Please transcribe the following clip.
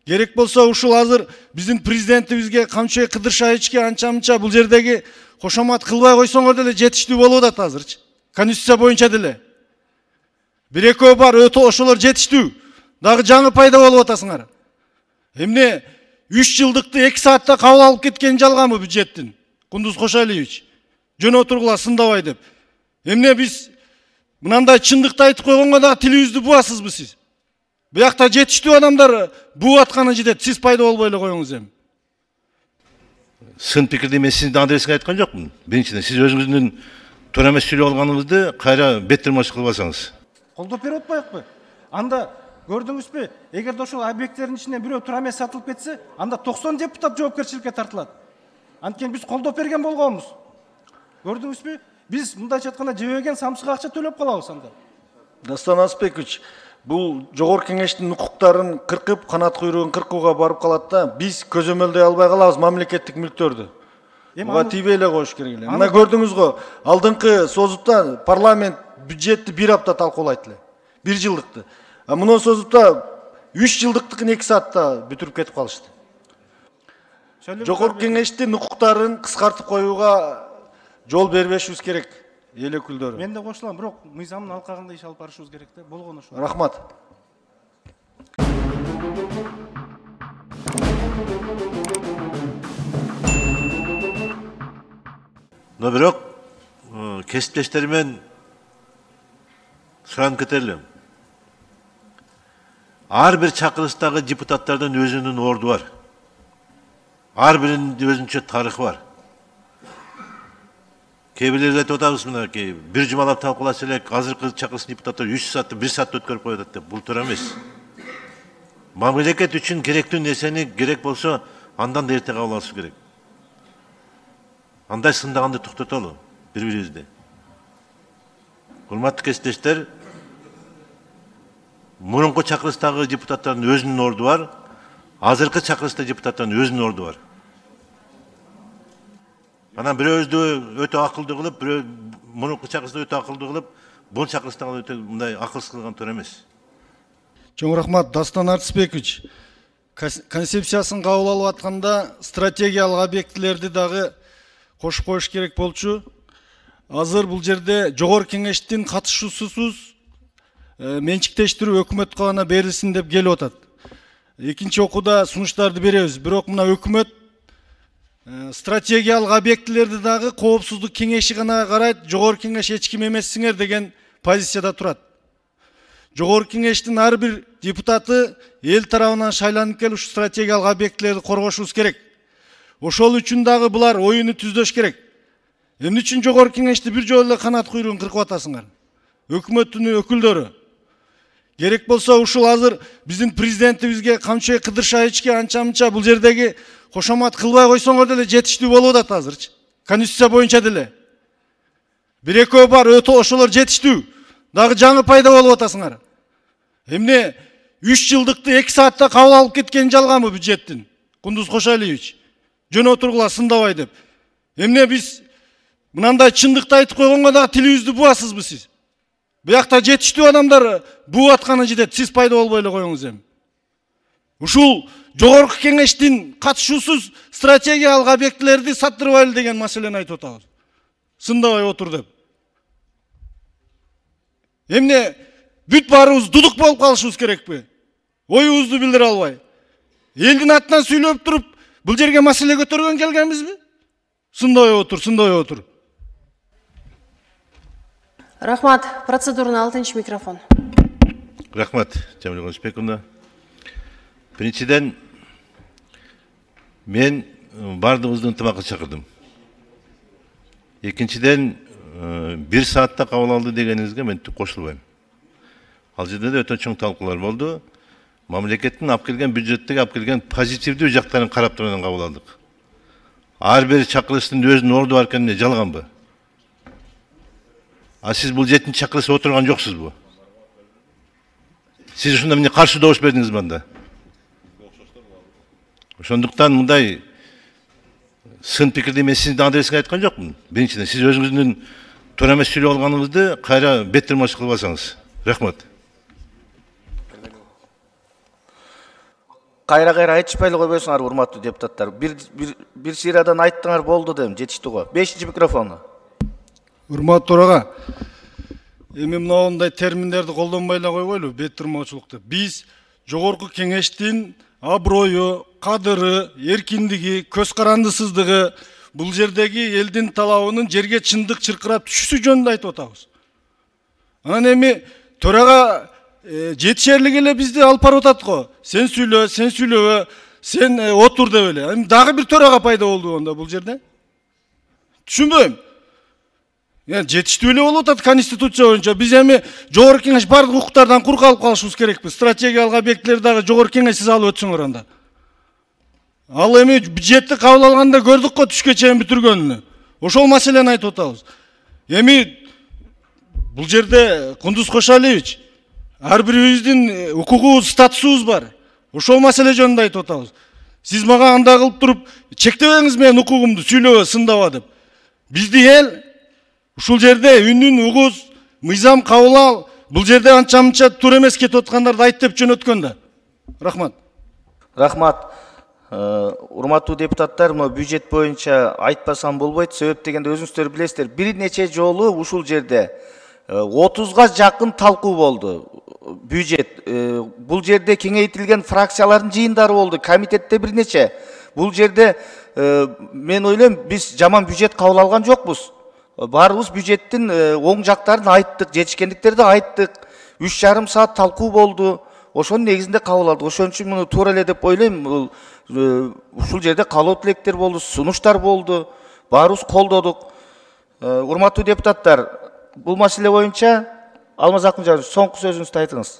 Керек болсо ушул азыр биздин президентибизге камчы Кыдыршаевичке анча-мынча бул жердеги кошомат кылбай койсоңор деле жетиштүү болуп атат азырчы. Конституция боюнча деле. Бир-экөө бар, ошолор жетиштүү. Дагы жаңы пайда болуп атасыңар. Эмне 3 жылдыкты 2 саатта кабыл алып кеткен жалганбы бюджеттин? Кундуз Кошалиевич. Жөн отургула сындабай деп. Эмне биз мынандай чындыкты айтып койгонго дагы тилибизди буасызбы сиз? Буякта жетиштүү адамдар буу атканы жетет. Сиз пайда болбой эле коюңуз эми. Сын пикирди мен сиздин адресиңе айткан жокмун. Биринчиден сиз өзүңүздүн туура эмес сүйлөп алганыңызды кайра беттирмаш кылбасаңыз. Колдоп берип атпайбыкпы? Анда көрдүңүзбү? Эгерде ошол объекттердин ичинен бирөө туура эмес сатылып кетсе, анда 90 депутат жоопкерчиликке тартылат. Анткени биз колдоп берген болгонбуз. Көрдүңүзбү? Биз мындайча айтканда жебеген самсыга акча төлөп калабыз анда. Дастан Аспекович, бул жогорку кеңештин укуктарын кыркып, канат куйругун кыркууга барып калат да, биз көзөмөлдөй албай калабыз мамлекеттик мүлктөрдү. Буга тийбей эле коюш керек эле. Мына көрдүңүз го, алдыңкы созутта парламент бюджетти 1 апта талкуулайт эле. 1 жылдыкты. А мына созутта 3 жылдыктыкын 2 саатта бүтүрүп кетип калышты. Жогорку кеңештин укуктарын кыскартып коюуга жол бербешибиз керек. Эл өкүлдөрү. Мен да кошулам, бирок мыйзамдын алкагында иш алып барышыбыз керек да. Болгон ошо. Рахмат. Но бирок кесиптештеримен суранып кетелим. Ар бир чакырылыштагы депутаттардын өзүнүн орду бар. Ар биринин өзүнчө тарыхы бар. Кээ бирлер айтып атабыз мынакей, бир жумалап талкууласа элек, азыркы чакырылыштын депутаттары 3 саатты 1 саатта өткөрүп коюп атат деп. Бул туура эмес. Мамлекет үчүн керектүү нерсени керек болсо андан да эрте кабыл алыш керек. Андай сындаганды токтотолу бири-бирибизди. Урматтуу кесиптештер, мурунку чакырылыштагы депутаттардын өзүнүн орду бар, азыркы чакырылышта депутаттардын өзүнүн орду бар. Анан бирөөбүздү өтө акылдуу кылып, бирөө мурунку чакырылышта өтө акылдуу кылып, бул чакырылышта өтө мындай акылсыз кылган туура эмес. Чоң рахмат, Дастан Артысбекович. Концепциясын кабыл алып атканда стратегиялык объектилерди дагы кошуп коюш керек болчу. Азыр бул жерде жогорку кеңештин катышуусусуз менчиктештирүү өкмөткө гана берилсин деп келип атат. Экинчи окууда сунуштарды беребиз. Бирок мына өкмөт стратегиялык объектилерди дагы коопсуздук кеңеши гана карайт, жогорку кеңеш эч ким эмессиңер деген позицияда турат. Жогорку кеңештин ар бир депутаты эл тарабынан шайланып келип ушу стратегиялык объектилерди коргошубуз керек. Ошол үчүн дагы булар оюну түздөш керек. Эмне үчүн жогорку кеңешти бир жолу эле канат куйругун кыркып атасыңар? Өкмөттүн өкүлдөрү. Керек болсо ушул азыр биздин президентибизге камчы Кыдыршаевичке анча-мынча бул жердеги кошомат кылбай койсоңор деле жетиштүү болуп атат азырчы. Конституция боюнча деле. Бир-экөө бар, ошолор жетиштүү. Дагы жаңы пайда болуп атасыңар. Эмне 3 жылдыкты 2 саатта кабыл алып кеткен жалганбы бюджеттин? Кундуз Кошалиевич. Жөн отургула сындабай деп. Эмне биз мынандай чындыкты айтып койгонго дагы тилибизди буасызбы сиз? Буякта жетиштүү адамдар буу атканы жетет. Сиз пайда болбой эле коюңуз эми. Ушул жогорку кеңештин катышуусуз стратегиялык объектилерди саттырбайлы деген маселени айтып атабыз. Сындабай отур деп. Эмне бүт баарыбыз дудук болуп калышыбыз керекпи? Оюбузду билдире албай. Элдин атынан сүйлөп туруп, бул жерге маселе көтөргөн келгенбизби? Сындабай отур. Рахмат. Процедурный 6-ncı микрофон. Рахмат, Жамил Кошпековна. Биринчиден, мен бардыгыбызды ынтымакка чакырдым. Экинчиден, 1 саатта кабыл алды дегениңизге мен кошулбайм. Ал жерде да өтө чоң талкуулар болду. Мамлекеттин алып келген бюджеттеги алып келген позитивдүү жактарын карап турган кабыл алдык. Ар бир чакырылыштын өзүнүн орду бар экенин жалганбы? А сиз бул 7-нчи чакырылышта отурган жоксузбу? Сиз ушунда эмне каршы добуш бердиңизби анда? Ошондуктан мындай сын пикирди мен сиздин адресиңе айткан жокмун. Биринчиден сиз өзүңүздүн туура эмес сүйлөп алганыңызды кайра беттирмаш кылбасаңыз. Рахмат. кайра айтышпай эле койбойсуңар, урматтуу депутаттар. Бир сыйрадан айттыңар болду дейм, жетишти го. 5-чи микрофону. Урматтуу төрага, эми мындай терминдерди колдонбой эле койгойлу, бет турмоочулукта. Биз жогорку кеңештин аброю, кадыры, эркиндиги, көз карандысыздыгы, бул жердеги элдин талабынын жерге чындык чыркырап түшүшү жөнүндө айтып атабыз. Анан эми төрага жетишерлик эле бизди алып барып атат го. Сен сүйлөбө, сен отур деп эле. Эми дагы бир төрага пайда болду онда бул жерде. Түшүнбөйм. Жетиштүү эле болуп атат конституция боюнча. Биз эми жогорку кеңеш бардык укуктардан кур калып калышыбыз керекпиз. Стратегиялык объектлерди дагы жогорку кеңешсиз алып өтсөңөр анда. Ал эми бюджетти кабыл алганда көрдүк го түшкө чейин бүтүргөнүнү. Ошол маселени айтып атабыз. Эми бул жерде Кундуз Кошалиевич, ар бирибиздин укугубуз, статусубуз бар. Ошол маселе жөнүндө айтып атабыз. Сиз мага андай кылып туруп, чектебеңиз менин укугумду, сүйлөбө, сындаба деп. Бизди эл ушул жерде үнүн угуз, мыйзам кабыл ал, бул жерде анча-мынча туура эмес кетип аткандарды айт деп жөнөткөн да. Рахмат. Рахмат. Урматтуу депутаттар, мына бюджет боюнча айтпасам болбойт. Себеп дегенде өзүңүздөр билесиздер, бир нече жолу ушул жерде 30га жакын талкуу болду. Бюджет. Бул жерде кеңейтилген фракциялардын жыйындары болду, комитетте бир нече. Бул жерде мен ойлойм, биз жаман бюджет кабыл алган жокпуз. Баарыбыз бюджеттин оң жактарын айттык, жетишкендиктерди айттык. 3,5 саат талкуу болду. Ошонун негизинде кабыл алдык. Ошон үчүн муну туура эле деп ойлойм. Ушул жерде каалоо тилектер болду, сунуштар болду. Баарыбыз колдодук. Урматтуу депутаттар, бул маселе боюнча Алмаз Акынжанович, соңку сөзүңүздү айтыңыз.